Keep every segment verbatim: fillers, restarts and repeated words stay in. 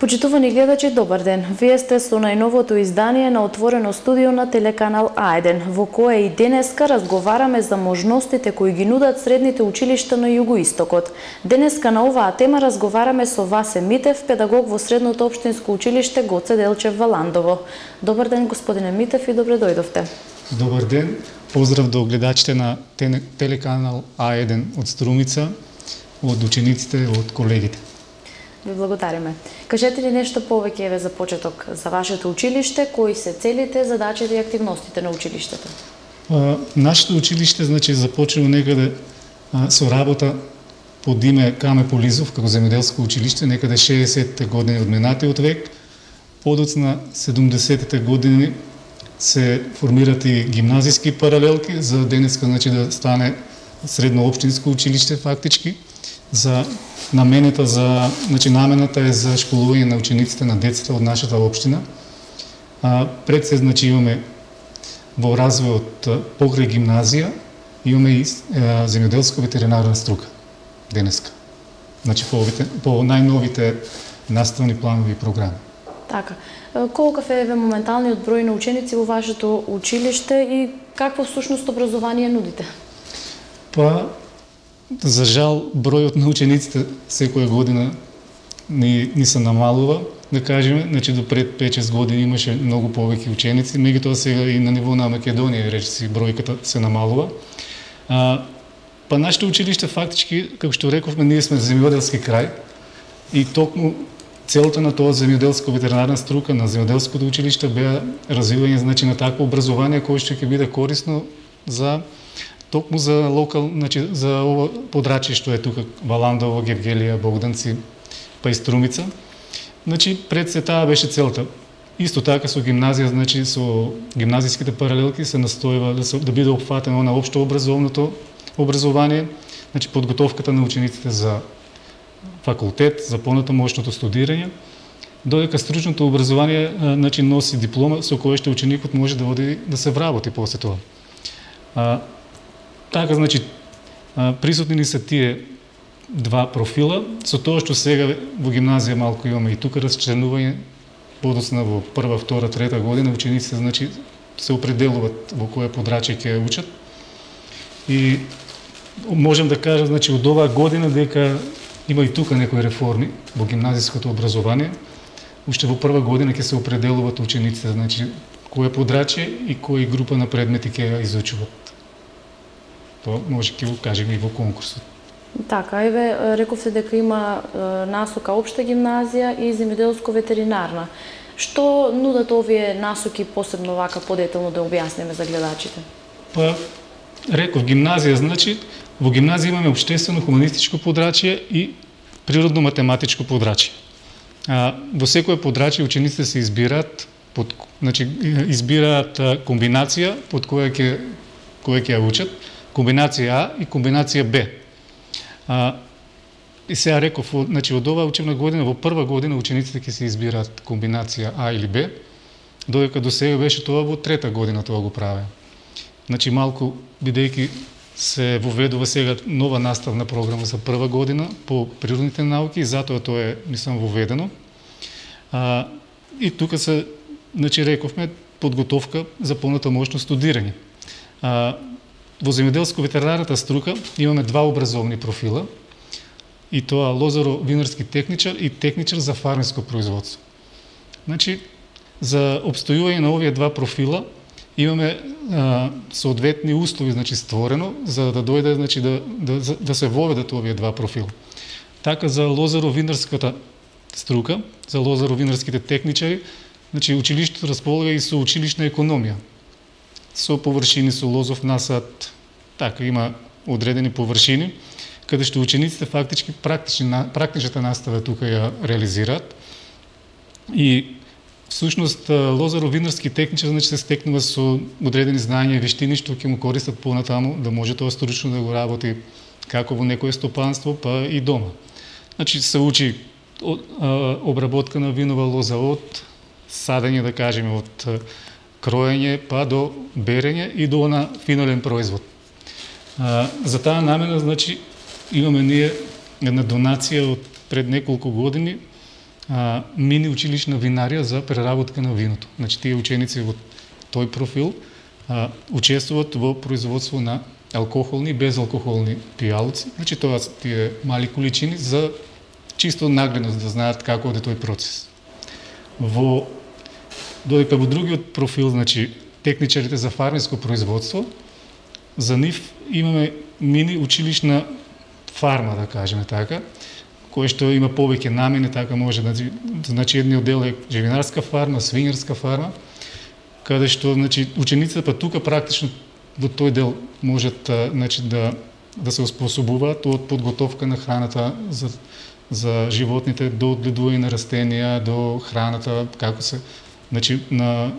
Почитувани гледачи, добар ден. Вие сте со најновото издание на Отворено студио на телеканал А еден, во кое и денеска разговараме за можностите кои ги нудат средните училишта на Југоистокот. Денеска на оваа тема разговараме со Васе Митев, педагог во Средното општинско училиште Гоце Делчев во Ландово. Добар ден, господине Митев, и добре дојдовте. Добар ден. Поздрав до гледачите на телеканал А еден од Струмица, од учениците, од колегите. Ви благодариме. Кажете ли нешто повеќе еве за почеток за вашето училиште, кои се целите, задачите и активностите на училиштето? А, нашето училиште значи започнало некаде а, со работа под име Каме Полизов како земјоделско училиште некаде шеесетте години од минатиот век. Подоцна седумдесетте години се формират и гимназиски паралелки за денеска значи да стане средно општинско училиште фактички. За намената за значи намената е за школување на учениците на децата од нашата општина. А, пред се значи имаме во развојот покрај гимназија имаме и е, земјоделско ветеринарна струка денеска. Значи по, овите, по најновите наставни планови и програми. Така. Колкав е еве моменталниот број на ученици во вашето училиште и какво всушност образование нудите? Па за жал, бројот на учениците секоја година ни, ни се намалува, да кажеме, значи до пред пет-шест години имаше многу повеќе ученици, меѓутоа сега и на ниво на Македонија речиси бројката се намалува. А, па нашето училиште фактички, како што рековме, ние сме земјоделски крај и токму целта на тоа земјоделско ветеринарна струка на земјоделското училиште беа развивање значи на такво образование кое што ќе биде корисно за токму за локал, значи за ова подрачје што е тука Валандово, Гевгелија, Богданци, па и Струмица. Значи пред се таа беше целта. Исто така со гимназија, значи со гимназиските паралелки се настојува да се да биде опфатено на општо образовното образование, значи подготовката на учениците за факултет, за понатамошното студирање, додека стручното образование значи носи диплома со која што ученикот може да оди да се вработи после тоа. А, Така, значи, присутни ни се тие два профила, со тоа што сега во гимназија малку имаме и тука расчленување, подоцна во прва, втора, трета година, учениците, значи, се определуваат во кое подрачје ќе учат. И можем да кажам, значи, од оваа година дека има и тука некои реформи во гимназиското образование. Уште во прва година ќе се определуваат учениците, значи, кое подрачје и кои група на предмети ќе ја изучуваат. Тоа може ќе го кажеме и во конкурсот. Така, еве, рековте дека има е, насока општа гимназија и земјоделско ветеринарна. Што нудат овие насоки посебно вака подетелно да објасниме за гледачите? Па, реков, гимназија, значи, во гимназија имаме општествено-хуманистичко подрачје и природно-математичко подрачје. А, во секое подрачје учениците се избираат, под, значи, избираат комбинација под која ќе која ќе ја учат, комбинација А и комбинација Б. А, и сега реков, значи од оваа учебна година, во прва година учениците ќе се избираат комбинација А или Б, додека до сега беше тоа во трета година тоа го правеа. Значи малку, бидејќи се воведува сега нова наставна програма за прва година по природните науки и затоа тоа е, мислам, воведено. А, и тука се, значи рековме, подготовка за понатамошно студирање. А, Во земјоделско-ветеринарната струка имаме два образовни профила, и тоа лозаро-винарски техничар и техничар за фармерско производство. Значи, за обстојување на овие два профила имаме а, соодветни услови, значи створено за да дојде, значи да да да се воведат овие два профила. Така за лозаро-винарската струка, за лозаро-винарските техничари, значи училиштето располага и со училишна економија. Со површини, со лозов насад, така има одредени површини, каде што учениците фактички практични, практичната настава тука ја реализираат. И всушност лозаро-винарски техничар значи се стекнува со одредени знаења и вештини што ќе му користат понатаму да може тоа стручно да го работи како во некое стопанство, па и дома. Значи се учи обработка на винова лоза од садење, да кажеме, од кроење па до берење и до на финален производ. А, за таа намена, значи, имаме ние една донација од пред неколку години а, мини училишна винарија за преработка на виното. Значи тие ученици во тој профил а, учествуваат во производство на алкохолни и безалкохолни пијалци. Значи тоа се тие мали количини за чисто нагледност да знаат како оде тој процес. Во додека во другиот профил, значи техничарите за фармерско производство, за нив имаме мини училишна фарма, да кажеме така, кој што има повеќе намени, така може да значи едниот дел е живинарска фарма, свинерска фарма, каде што значи учениците па тука практично во тој дел можат значи да да се оспособуваат од подготовка на храната за за животните до одгледување на растенија, до храната, како се значи на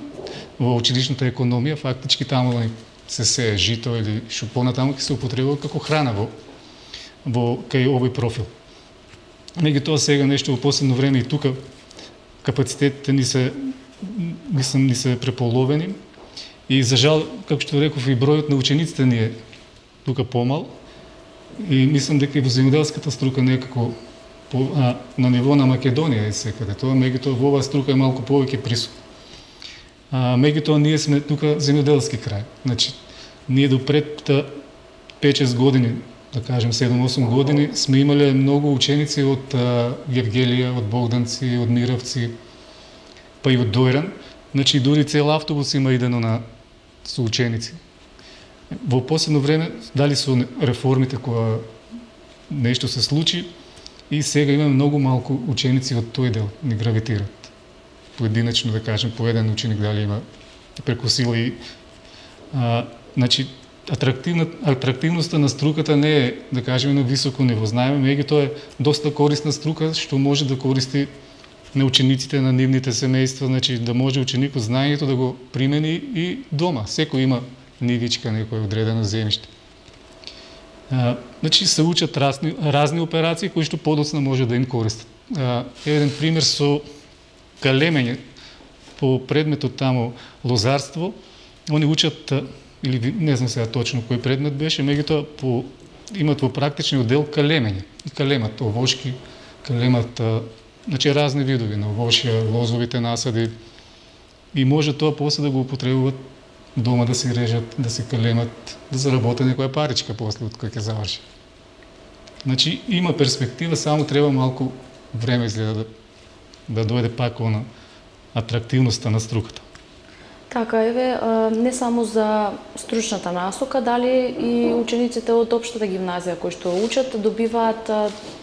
во училишната економија фактички таму се сее жито или што понатаму ќе се употребува како храна во во кај овој профил. Меѓутоа сега нешто во последно време и тука капацитетите ни се мислам ни се преполовени и за жал, како што реков, и бројот на учениците ни е тука помал и мислам дека и во земјоделската струка некако по, а, на ниво на Македонија е секаде тоа, меѓутоа во оваа струка е малку повеќе присутно. А, меѓутоа ние сме тука земјоделски крај. Значи, ние до пред пет-шест години, да кажем седум-осум години, сме имале многу ученици од а, Гевгелија, од Богданци, од Мировци, па и од Дојран. Значи, дури цел автобус има идено на со ученици. Во последно време, дали со реформите која нешто се случи, и сега имаме многу малку ученици од тој дел ни гравитираат. Поединечно, да кажем, по еден ученик дали има преку сила и а, значи атрактивна атрактивноста на струката не е, да кажеме, на високо ниво. Знаеме, меѓутоа е доста корисна струка што може да користи на учениците, на нивните семејства, значи да може ученикот знаењето да го примени и дома. Секој има нивичка, некој одредено земјиште. А, значи се учат разни, разни операции кои што подоцна може да им користат. А, еден пример со калемење по предметот таму лозарство, они учат или не знам сега точно кој предмет беше, меѓутоа по имат во практичниот дел калемење. И калемат овошки, калемат значи разни видови на овошја, лозовите насади и може тоа после да го употребуваат дома, да се режат, да се калемат, да заработат некоја паричка после од кога ќе заврши. Значи има перспектива, само треба малку време изгледа да, да дојде пак она атрактивноста на струката. Така, еве, не само за стручната насока, дали и учениците од општата гимназија кои што учат добиваат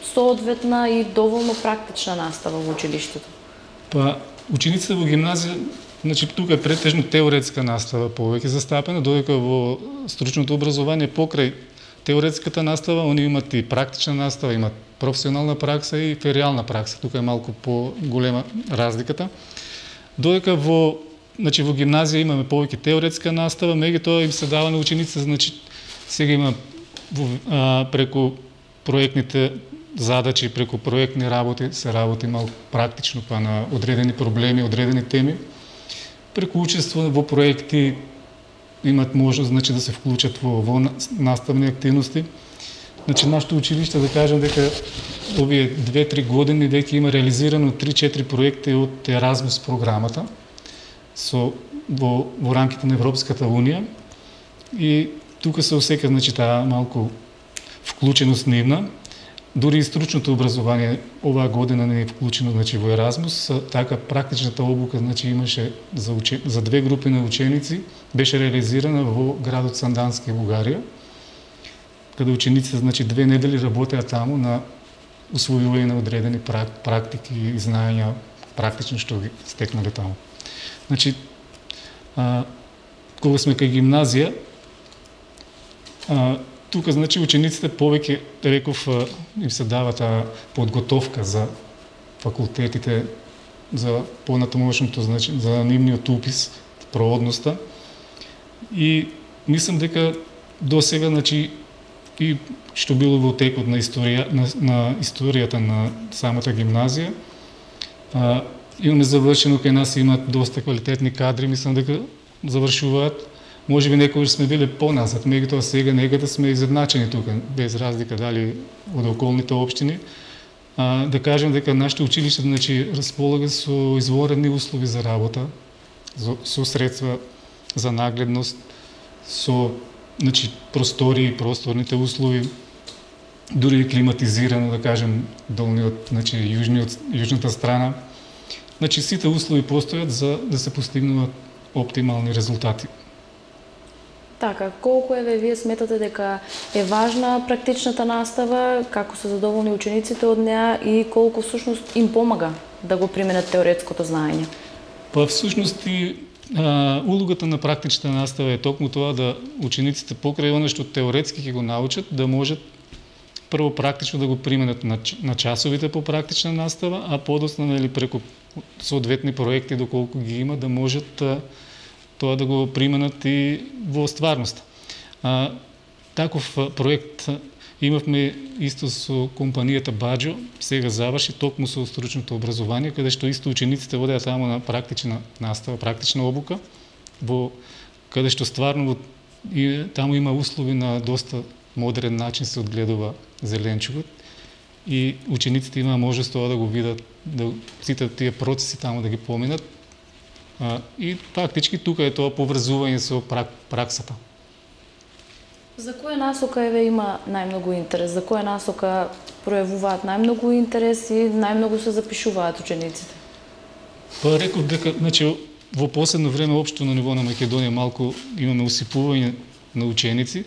соодветна и доволно практична настава во училиштето? Па, учениците во гимназија, значи тука е претежно теоретска настава повеќе застапена, додека во стручното образование покрај теоретската настава, они имат и практична настава, имат професионална пракса и феријална пракса. Тука е малку по-голема разликата. Додека во Значи во гимназија имаме повеќе теоретска настава, меѓутоа им се дава на учениците, значи сега има а, преку проектните задачи, преку проектни работи се работи малку практично па на одредени проблеми, одредени теми. Преку учество во проекти имат можност значи да се вклучат во, во наставни активности. Значи нашето училиште, да кажем дека овие две-три години веќе има реализирано три-четири проекти од Еразмус програмата со во, во рамките на Европската унија и тука се осека значи таа малку вклученост нивна. Дури и стручното образование оваа година не е вклучено значи во Еразмус, така практичната обука значи имаше за уче, за две групи на ученици беше реализирана во градот Сандански, Бугарија, каде учениците значи две недели работеа таму на усвојување на одредени практики и знаења практично што ги стекнале таму. Значи, а, кога сме кај гимназија, а, тука значи учениците повеќе, реков, а, им се дава таа подготовка за факултетите, за понатамошното, значи, за нивниот упис, проводноста. И мислам дека до сега, значи, и што било во текот на историја на, на историјата на самата гимназија, а, имаме завршено, кај нас имат доста квалитетни кадри, мислам дека завршуваат. Може би некогаш сме биле поназад, меѓутоа сега некаде сме изедначени тука, без разлика дали од околните општини. А, да кажем дека нашето училиште, значи, располага со изворени услови за работа, со, со средства за нагледност, со, значи, простори и просторните услови, дури и климатизирано, да кажем, долниот, значи, јужниот, јужната страна. Значи, сите услови постојат за да се постигнуваат оптимални резултати. Така, колку еве вие сметате дека е важна практичната настава, како се задоволни учениците од неа и колку всушност им помага да го применат теоретското знаење? Па всушност и а, улогата на практичната настава е токму тоа да учениците покрај она што теоретски ќе го научат, да можат прво практично да го применат на, на часовите по практична настава, а подоцна, нели, преку соодветни проекти доколку ги има, да можат а, тоа да го применат и во стварноста. А, таков проект имавме исто со компанијата Баџо, сега заврши токму со стручното образование, каде што исто учениците водеа таму на практична настава, практична обука, во каде што стварно и таму има услови на доста модерен начин се одгледува зеленчукот и учениците имаа можност тоа да го видат, да сите тие процеси таму да ги поминат. А, и фактички тука е тоа поврзување со прак, праксата. За која насока еве има најмногу интерес? За која насока пројавуваат најмногу интерес и најмногу се запишуваат учениците? Па реков дека, значи, во последно време општо на ниво на Македонија малку имаме усипување на ученици,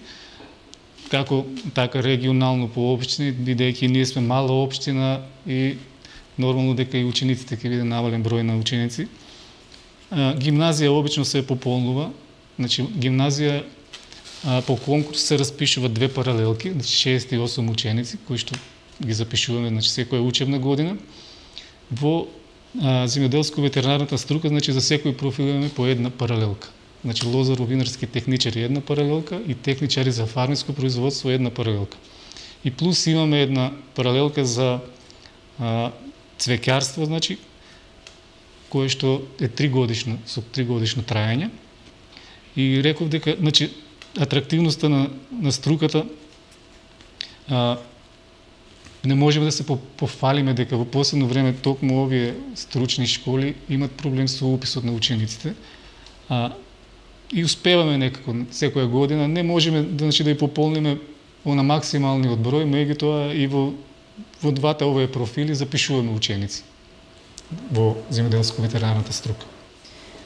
како така регионално по општини, бидејќи ние сме мала општина и нормално дека и учениците ќе биде намален број на ученици. А, гимназија обично се пополнува, значи гимназија а, по конкурс се распишуваат две паралелки, значи шест и осум ученици кои што ги запишуваме, значи секоја учебна година. Во а, земјоделско-ветеринарната струка, значи за секој профил имаме по една паралелка. Значи лозаро-винарски техничари една паралелка и техничари за фармерско производство една паралелка. И плюс имаме една паралелка за а, цвеќарство, значи кое што е тригодишно, со тригодишно траење. И реков дека, значи, атрактивноста на, на струката а, не можеме да се пофалиме дека во последно време токму овие стручни школи имат проблем со уписот на учениците. А, и успеваме некако секоја година, не можеме да, значи, да ја пополниме на максималниот број, меѓутоа и во, во двата овие профили запишуваме ученици во земјоделско-ветеринарната струка.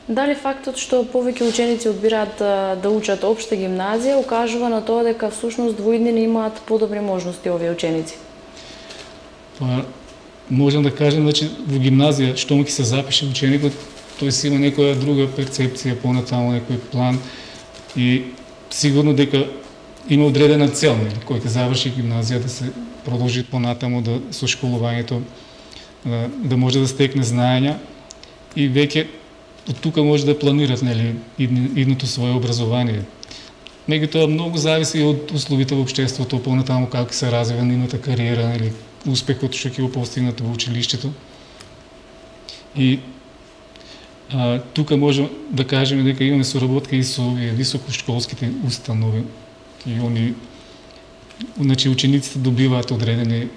Дали фактот што повеќе ученици одбираат да, да учат општа гимназија укажува на тоа дека всушност во иднина имаат подобри можности овие ученици? Па, можам да кажем, значи, во гимназија што му ќе се запише ученикот, тој си има некоја друга перцепција, понатаму некој план и сигурно дека има одредена цел, нели, кој ќе заврши гимназија да се продолжи понатаму да со школувањето да, да може да стекне знаења и веќе од тука може да планират, нели, идното свое образование. Меѓутоа многу зависи од условите во општеството, понатаму како се развива нивната кариера, нели, успехот што ќе го постигнат во училиштето. И а, тука може да кажеме дека имаме соработка и со високошколските установи и они, значи, учениците добиваат одредени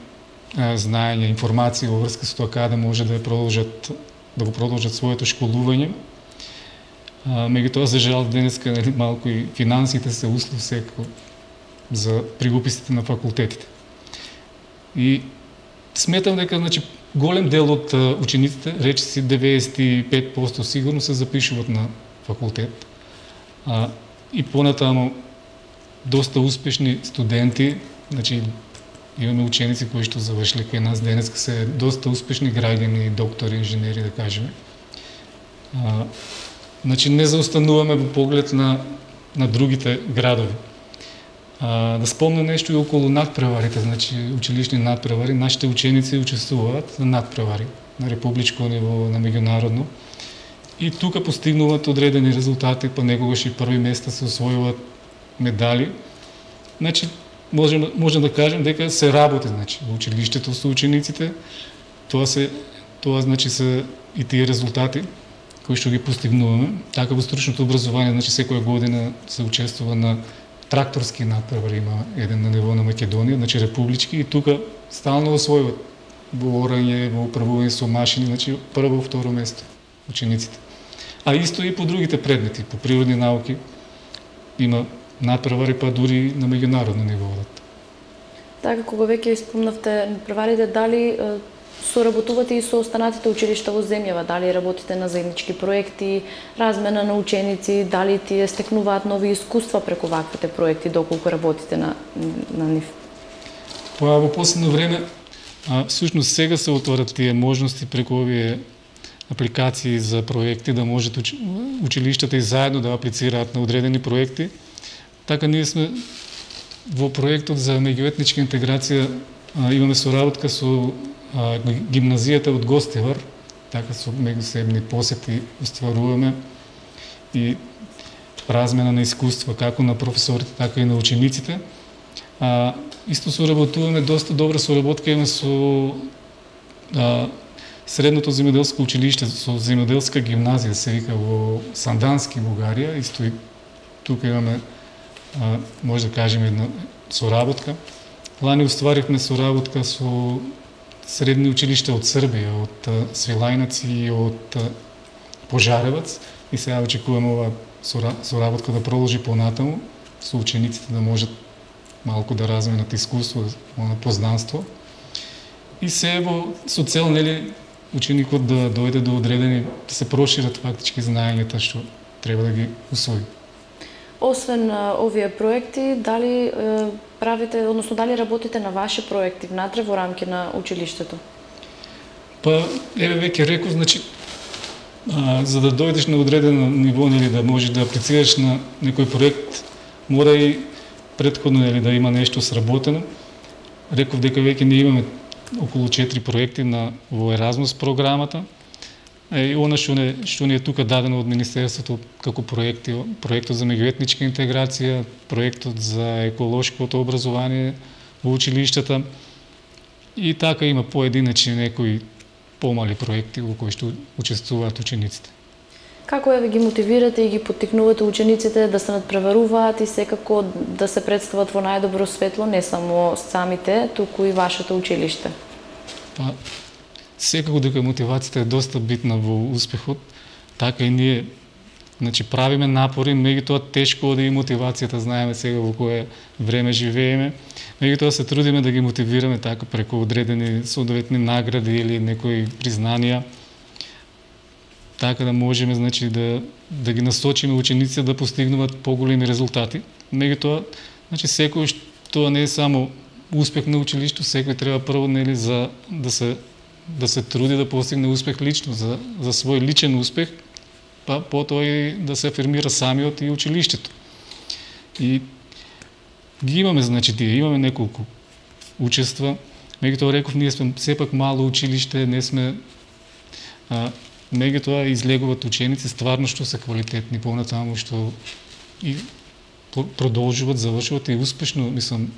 а, знаења, информации во врска со тоа каде може да продолжат да го продолжат своето школување. Меѓутоа, за жал, денеска, нели, малку и финансите се услов секако за при уписите на факултетите. И сметам дека, значи, голем дел од учениците, речиси деветдесет и пет проценти сигурно се запишуваат на факултет. А, и понатаму доста успешни студенти, значи имаме ученици кои што завршиле кај нас денеска се доста успешни граѓани, доктори, инженери, да кажеме. А, значи не заостануваме во поглед на на другите градови. А, да спомнам нешто и околу надпреварите, значи училишни надпревари, нашите ученици учествуваат на надпревари на републичко ниво, на меѓународно. И тука постигнуваат одредени резултати, па некогаш и први места се освојуваат медали. Значи можем можем да кажем дека се работи, значи во училиштето со учениците. Тоа се тоа значи се и тие резултати кои што ги постигнуваме. Така во стручното образование, значи секоја година се учествува на тракторски надпревари, има еден на ниво на Македонија, значи републички, и тука стално освојуваат во орање, во управување со машини, значи прво, второ место учениците. А исто и по другите предмети, по природни науки има надпревари, па дури на меѓународно ниво. Така, кога веќе спомнавте надпреварите, дали соработувате и со останатите училишта во земјава, дали работите на заеднички проекти, размена на ученици, дали тие стекнуваат нови искуства преку ваквите проекти, доколку работите на, на нив? Па во последно време, а, всушност сега се отворат тие можности преку овие апликации за проекти, да можат уч... училиштата и заедно да аплицираат на одредени проекти. Така ние сме во проектот за меѓуетничка интеграција, а, имаме соработка со а, гимназијата од Гостивар, така со меѓусебни посети остваруваме и размена на искуства како на професорите, така и на учениците. А, исто соработуваме, доста добра соработка имаме со а, Средното земјоделско училиште, со земјоделска гимназија, се вика во Сандански, Бугарија. Исто и тука имаме, а, може да кажеме, една соработка. Лани остваривме соработка со средни училишта од Србија, од Свилајнац и од Пожаревац. И сега очекуваме ова соработка да продолжи понатаму, со учениците да можат малку да разменат искуство, познанство. И се во со цел, нели, ученикот да дојде до одредени, да се прошират фактички знаењата што треба да ги усвои. Освен а, овие проекти, дали е, правите, односно дали работите на ваши проекти внатре во рамки на училиштето? Па, еве веќе реков, значи, а, за да дојдеш на одредено ниво, нели, да можеш да аплицираш на некој проект, мора и претходно, нели, да има нешто сработено. Реков дека веќе не имаме околу четири проекти на во Еразмус програмата. И она што не што ни е тука дадено од Министерството како проекти, проектот за меѓуетничка интеграција, проектот за еколошкото образование во училиштата. И така има поединечни некои помали проекти во кои што учествуваат учениците. Како еве ги мотивирате и ги поттикнувате учениците да се надпреваруваат и секако да се представат во најдобро светло, не само самите, туку и вашето училиште? Па, секако дека мотивацијата е доста битна во успехот, така и ние, значи, правиме напори, меѓутоа тешко оди и мотивацијата, знаеме сега во кое време живееме, меѓутоа се трудиме да ги мотивираме така преку одредени соодветни награди или некои признанија, така да можеме, значи, да, да ги насочиме учениците да постигнуваат поголеми резултати. Меѓутоа, значи, секој што не е само успех на училишто, секој треба прво, нели, за да се да се труди да постигне успех лично, за, за свој личен успех, па потоа и да се афирмира самиот и училиштето. И ги имаме, значи, тие, имаме неколку учества. Меѓутоа, реков, ние сме сепак мало училиште, не сме а, меѓутоа излегуваат ученици стварно што се квалитетни понатаму, што и продолжуваат, завршуваат и успешно, мислам,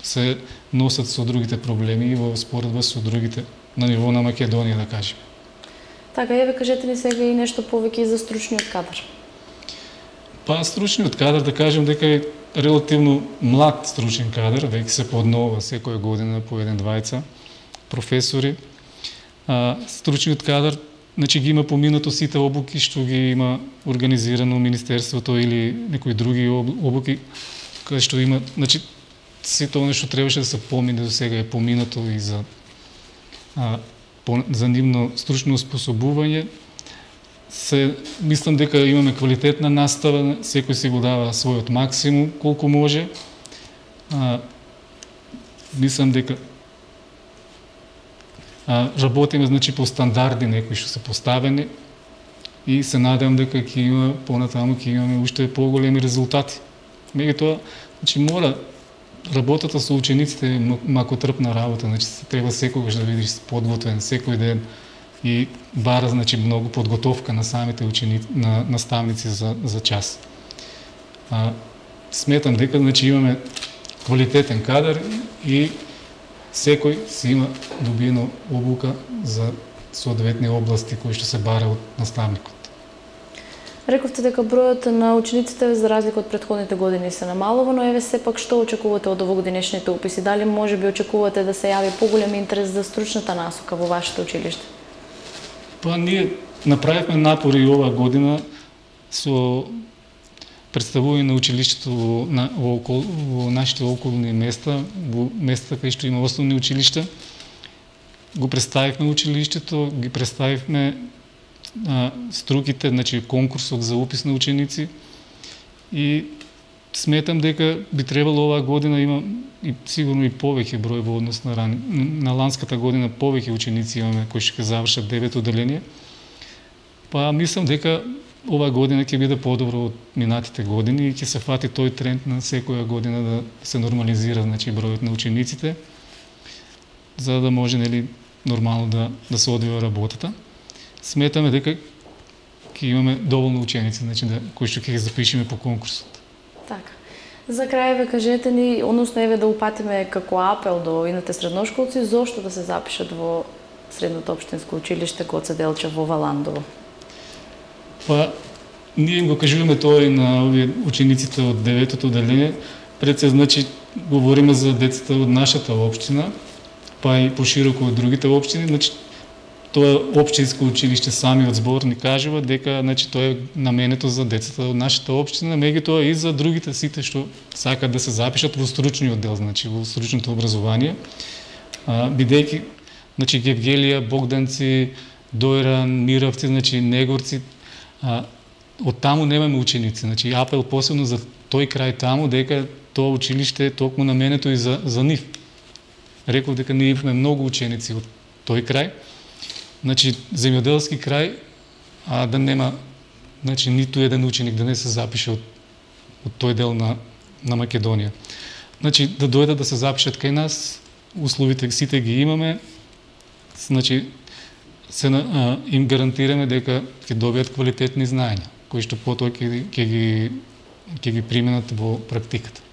се носат со другите проблеми и во споредба со другите на ниво на Македонија, да кажеме. Така, еве кажете ни сега и нешто повеќе и за стручниот кадар. Па стручниот кадар, да кажем дека е релативно млад стручен кадар, веќе се поднова секоја година по еден двајца професори. А, стручниот кадар, значи, ги има поминато сите обуки што ги има организирано Министерството или некои други обуки, каде што има, значи, сите оно што требаше да се помине до сега е поминато и за а, по, за нивно стручно способување. Се, мислам дека имаме квалитетна настава, секој си го дава својот максимум колку може. А, мислам дека а, работиме, значи, по стандарди некои што се поставени и се надевам дека ќе има понатаму ќе имаме уште поголеми резултати. Меѓутоа, значи, мора работата со учениците е макотрпна работа, значи треба секогаш да бидеш подготвен секој ден и бара, значи, многу подготовка на самите ученици, на наставници за за час. А, сметам дека, значи, имаме квалитетен кадар и секој си има добиено обука за соодветни области кои што се бара од наставникот. Рековте дека бројот на учениците за разлика од претходните години се намалува, но еве сепак што очекувате од овогодинешните уписи? Дали можеби очекувате да се јави поголем интерес за стручната насока во вашето училиште? Па ние направивме напори и оваа година со представување на училиштето во, на, во, окол, во нашите околни места, во места кај што има основни училишта. Го представивме училиштето, ги представивме а, струките, значи конкурсот за упис на ученици и сметам дека би требало оваа година има и сигурно и повеќе број во однос на рани. На ланската година повеќе ученици имаме кои ќе завршат девето одделение. Па мислам дека оваа година ќе биде подобро од минатите години и ќе се фати тој тренд на секоја година да се нормализира, значи бројот на учениците, за да може, нели, нормално да да се одвива работата. Сметаме дека ќе имаме доволно ученици, значи да кои што ќе ги запишеме по конкурсот. Така. За крај ве кажете ни, односно еве да упатиме како апел до ините средношколци, зошто да се запишат во Средното општинско училиште Гоце Делчев во Валандово? Па, ние им го кажуваме тоа и на овие учениците од деветото одделение. Пред се, значи, говориме за децата од нашата општина, па и пошироко од другите општини. Значи, тоа општинско училиште самиот збор ни кажува дека, значи, тоа е наменето за децата од нашата општина, меѓутоа и за другите сите што сакаат да се запишат во стручниот дел, значи во стручното образование. А, бидејќи, значи, Гевгелија, Богданци, Дојран, Мировци, значи, Негорци, а, од таму немаме ученици. Значи, апел посебно за тој крај таму, дека тоа училиште е токму наменето и за, за нив. Реков дека ние имаме многу ученици од тој крај. Значи, земјоделски крај, а да нема, значи, ниту еден ученик да не се запише од, од тој дел на, на Македонија. Значи, да дојдат да се запишат кај нас, условите сите ги имаме, значи, се а, им гарантираме дека ќе добијат квалитетни знаења, кои што потоа ќе, ќе ги ќе ги применат во практиката.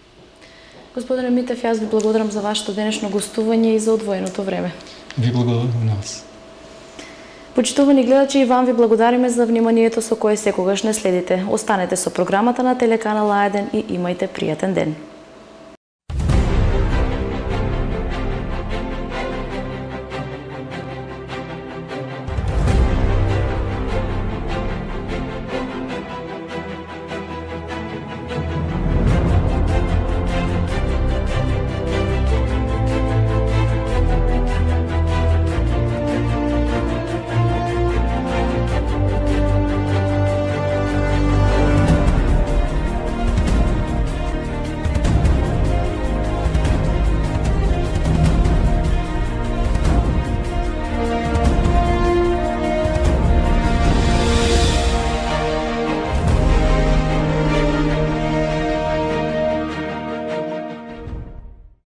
Господине Митев, јас ви благодарам за вашето денешно гостување и за одвоеното време. Ви благодарам на вас. Почитувани гледачи, и вам ви благодариме за вниманието со кое секогаш не следите. Останете со програмата на телеканал А еден и имајте пријатен ден.